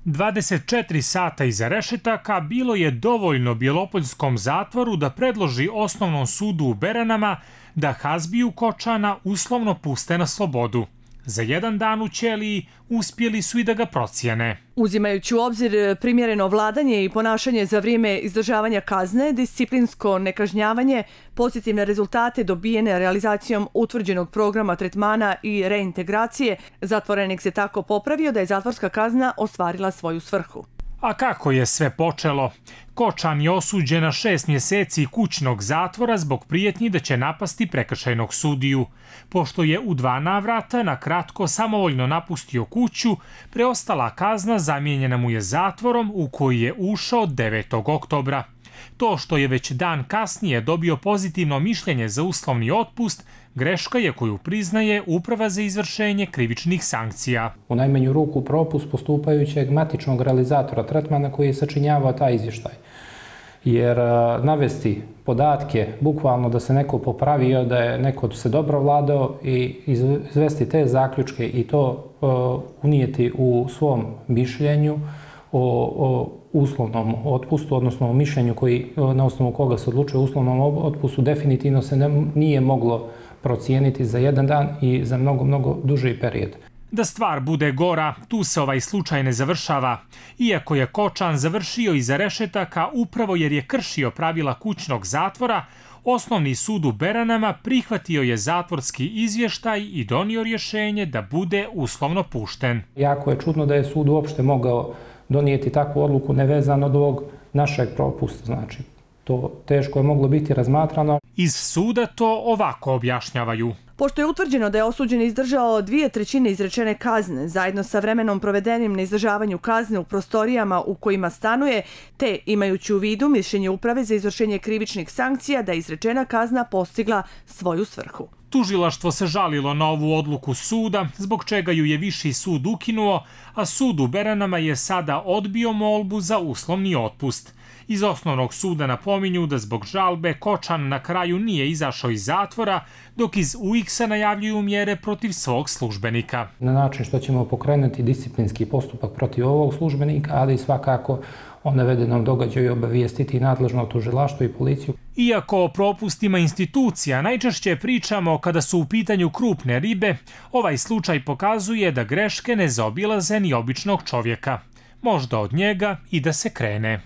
24 sata iza rešetaka bilo je dovoljno Bjelopoljskom zatvoru da predloži Osnovnom sudu u Beranama da Hazbiju Kočana uslovno puste na slobodu. Za jedan dan u ćeliji uspjeli su i da ga procijene. Uzimajući u obzir primjereno vladanje i ponašanje za vrijeme izdržavanja kazne, disciplinsko nekažnjavanje, pozitivne rezultate dobijene realizacijom utvrđenog programa tretmana i reintegracije, zatvorenik se tako popravio da je zatvorska kazna ostvarila svoju svrhu. A kako je sve počelo? Kočan je osuđen na 6 mjeseci kućnog zatvora zbog prijetnji da će napasti prekršajnog sudiju. Pošto je u 2 navrata na kratko samovoljno napustio kuću, preostala kazna zamijenjena mu je zatvorom u koji je ušao 9. oktobra. To što je već dan kasnije dobio pozitivno mišljenje za uslovni otpust, greška je koju priznaje Uprava za izvršenje krivičnih sankcija. U najmanju ruku propust postupajućeg matičnog realizatora tretmana koji je sačinjavao taj izvještaj. Jer navesti podatke, bukvalno da se neko popravio, da je neko se dobro vladao i izvesti te zaključke i to unijeti u svom mišljenju o uslovnom otpustu, odnosno o mišljenju na osnovu koga se odlučuje o uslovnom otpustu, definitivno se nije moglo procijeniti za jedan dan i za mnogo duži period. Da stvar bude gora, tu se ovaj slučaj ne završava. Iako je Kočan završio iza rešetaka upravo jer je kršio pravila kućnog zatvora, Osnovni sud u Beranama prihvatio je zatvorski izvještaj i donio rješenje da bude uslovno pušten. Jako je čudno da je sud uopšte mogao donijeti takvu odluku nevezano od ovog našeg propusta. Znači, to teško je moglo biti razmatrano. Iz suda to ovako objašnjavaju. Pošto je utvrđeno da je osuđen izdržao 2/3 izrečene kazne, zajedno sa vremenom provedenim na izdržavanju kazne u prostorijama u kojima stanuje, te imajući u vidu mišljenje Uprave za izvršenje krivičnih sankcija da je izrečena kazna postigla svoju svrhu. Tužilaštvo se žalilo na ovu odluku suda, zbog čega ju je Viši sud ukinuo, a sud u Beranama je sada odbio molbu za uslovni otpust. Iz Osnovnog suda napominju da zbog žalbe Kočan na kraju nije izašao iz zatvora, dok iz UX-a najavljuju mjere protiv svog službenika. Na način što ćemo pokrenuti disciplinski postupak protiv ovog službenika, ali svakako o navedenom događaju obavijestiti nadležno tužilaštvo i policiju. Iako o propustima institucija najčešće pričamo kada su u pitanju krupne ribe, ovaj slučaj pokazuje da greške ne zaobilaze ni običnog čovjeka. Možda od njega i da se krene.